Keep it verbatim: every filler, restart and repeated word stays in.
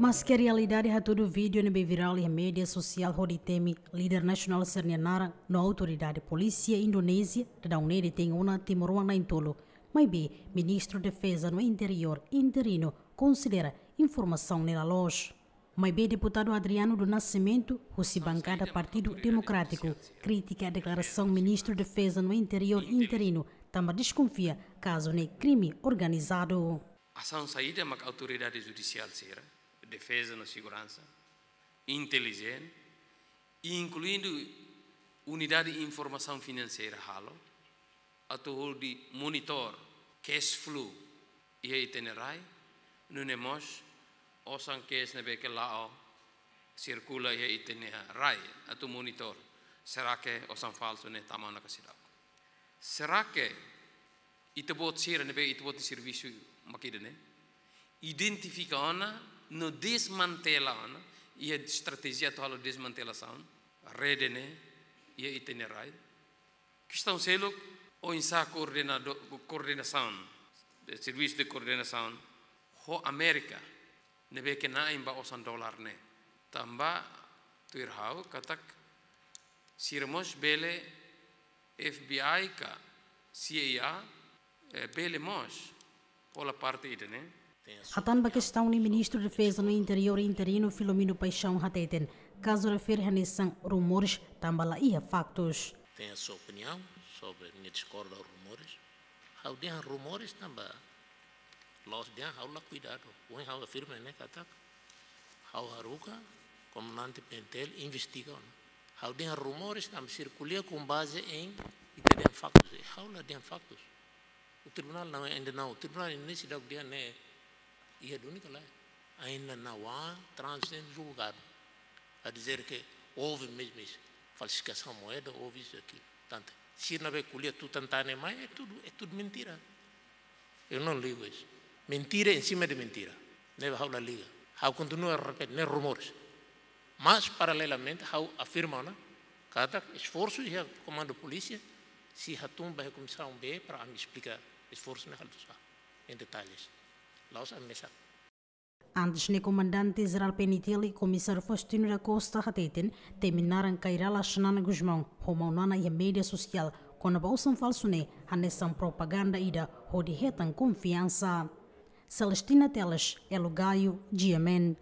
Maske realidade hatudu vídeo ne'ebé virál iha média sosiál hodi temi líder nasionál sira-nia naran no autoridade polísia Indonézia, daudaun ne'e detein ona timoroan na'in-tolu. Maibé, Ministru Defeza no Interiór interinu konsidera informasaun ne'e la loos. Maibé deputadu Adriano do Nascimento, husi bankada Partidu Demokrátiku, kritika deklarasaun Ministru Defeza no Interiór interinu, tanba deskonfia kazu ne'e krime organizadu. Asaun saida mak autoridade judisiál sira, defeza no seguransa, intelijen, inkluindu unidade informasaun finanseira halo, atu hodi monitor cash flow iha ita-nia rai, nune'e mós osan cash ne'ebé ke la'o sirkula iha ita-nia rai, atu monitor será ke osan falsu ne'e tama ona ka seidauk. Será ke ita-boot sira ne'ebé ita-boot nia servisu mak ida-ne'e identifika ona no desmantela ona, iha estratéjia atu halo desmantelasaun rede ne'e iha ita-nia rai. Kestaun seluk, oinsá koordenado-, koordenasaun, servisu de koordenasaun ho Amérika, ne'ebé ke na'in ba osan dolar ne'e. Tanba tuir ha'u katak sira mós bele, FBI ka CIA, eh, bele mós hola parte ida-ne'e. Hatán ba kestaun ne'e, Ministru Defeza no Interiór interinu Filomeno Paixão hateten, kazu refere hanesan rumores tanba la iha faktus. Tenho a sua opinião sobre, minha discorda aos rumores. Ha'u dehan rumores tanba la'ós dehan ha'u la kuidadu. Ohin ha'u afirma ne'e katak ha'u haruka komandante PNTL investiga ona. Ha'u dehan rumores tanba sira ko'alia com base em, ita dehan faktus. Ha'u la dehan faktus. O tribunal não, ainda não. O tribunal ainda nem se dá o dia, né? Iha duni ka lae. Ainda não há trânsito em julgado. A dizer que houve mesmo isso. Falsificação de moeda, houve isso e aquilo. Portanto, sira ne'ebé ko'alia tutan tan ne'e mai, é tudo, é tudo mentira. Eu não ligo isso. Mentira em cima de mentira. Ne'e ha'u la liga. Ha'u kontinua repete, ne'e rumores. Mas, paralelamente, ha'u afirma ona katak esforsu iha komandu polísia, sei hatún ba iha Komisaun B para ami esplika esforsu ne'e halo sá em detalhes. La'ós ami mesak. Antes ne'e, Komandante Jerál PNTL, Komisáriu Faustino da Costa hateten, temi naran Kay Rala Xanana Gusmão ho Maunana iha média sosiál kona-ba osan falsu ne'e hanesan propaganda ida hodi hetan konfiansa. Celestina Teles, Elo Gayo, GMN.